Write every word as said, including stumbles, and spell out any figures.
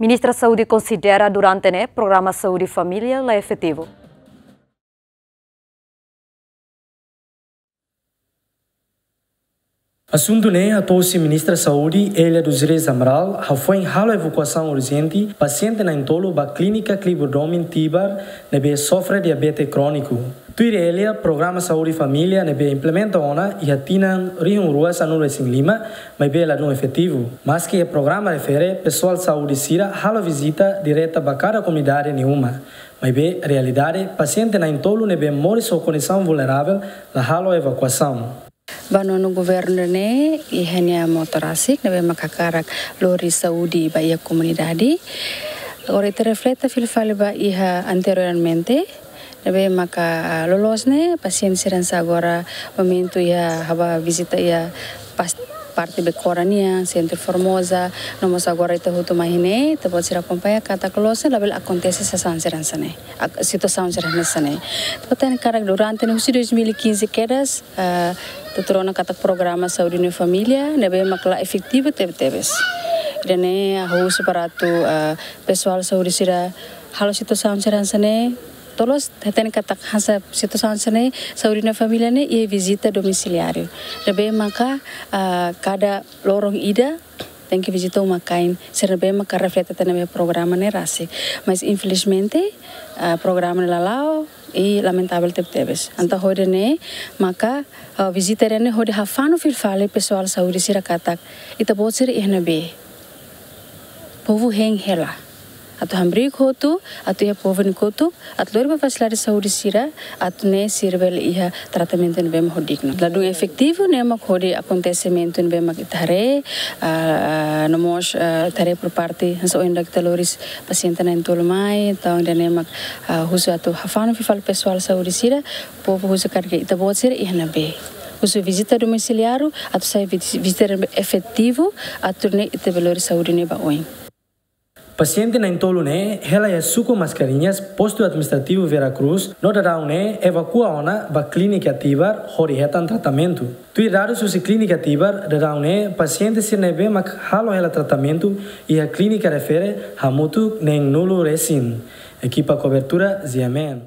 Ministra Saúde konsidera durante ne'e programa saúde família la efetivu. Asuntu ne'e hato'o husi Ministra Saúde, Elia dos Reis Amaral, hafoin halo evakuasaun urjente pasiente na'in-tolu ba Klínika Cliburdomin Tibar ne'ebé sofre diabete króniku. Tuir Elia, programa saúde família ne'ebé implementa ona iha tinan rihun rua sanulu-resin-lima, maibé ladún efetivu. Maske iha programa refere, pesoál saúde sira halo vizita direta ba kada komunidade nia uma. Maibé realidade, pasiente na'in-tolu ne'ebé moris ho kondisaun vulneravel la halo evakuasaun. Ba nonu governu ne'e iha nia moto rasik ne'ebé mak hakarak lori saúde ba iha komunidade. Agora ita refleta fila fali ba iha anteriormente, ne'ebé maka, ah, loloos ne'e pasiente sira hanesan agora momentu iha ha'u bá vizita iha pas-, parte Becora nian, Centro Formosa, no mós agora ita hotu mai ne'e, ita-boot sira akompaña katak loloos ne'e labele akontese situasaun sira hanesan ne'e. Ak-, situasaun sira hanesan ne'e. Ita hatene katak durante ne'e husi dois mil e quinze kedas, ah, ita tuir ona katak programa saúde no família ne'ebé mak la efetivu tebetebes. Ida-ne'e ha'u husu para atu, ah, pesoál saúde sira halo situasaun sira hanesan ne'e, tolos hatene katak hanesan situasaun hanesan ne'e, saúde no família ne'e iha vizita domisiliáriu. Ne'ebé maka, ah, kada loron ida tenke vizita uma-kain, sira ne'ebé maka refleta tiha ona programa ne'e rasik. Mas infelizmente, ah, programa ne'e la la'o, i lamentavel tebetebes. Entaun hodi ne'e maka, ah, vizita ida-ne'e hodi hafanu fila fali pesoál saúde sira katak ita-boot sira iha ne'ebé. Povu hein hela. Atu hamriik hotu, atu iha povu nia kotuk, atu lori ba fasilidade saúde sira, atu nune'e sira bele iha tratamentu ne'ebé mak ho dignu. Ladún efetivu ne'e mak hodi akontesimentu ne'ebé mak ita haree, ah, ah, no mós, ah, ita haree por parte, hanesan ohin daudaun ita lori pasiente na'in-tolu mai, entaun ida-ne'e mak, ah, husu atu hafanu fila fali pesoál saúde sira, povu husu katak ita-boot sira iha ne'ebé. Husu vizita domisiliáriu, atu sai vi-, vizita efetivu, atu nune'e ita bele lori saúde ne'e ba oin. Pasiente na'in-tolu ne'e hela iha suku Mascarenhas, postu administrativu Vera Cruz, no daudaun ne'e evakua ona ba Klínika Tibar hodi hetan tratamentu. Tuir dadus husi Klínika Tibar, daudaun ne'e pasiente sira ne'ebé mak halo hela tratamentu iha klínika refere hamutuk neen-nulu resin. Ekipa kobertura, G M N.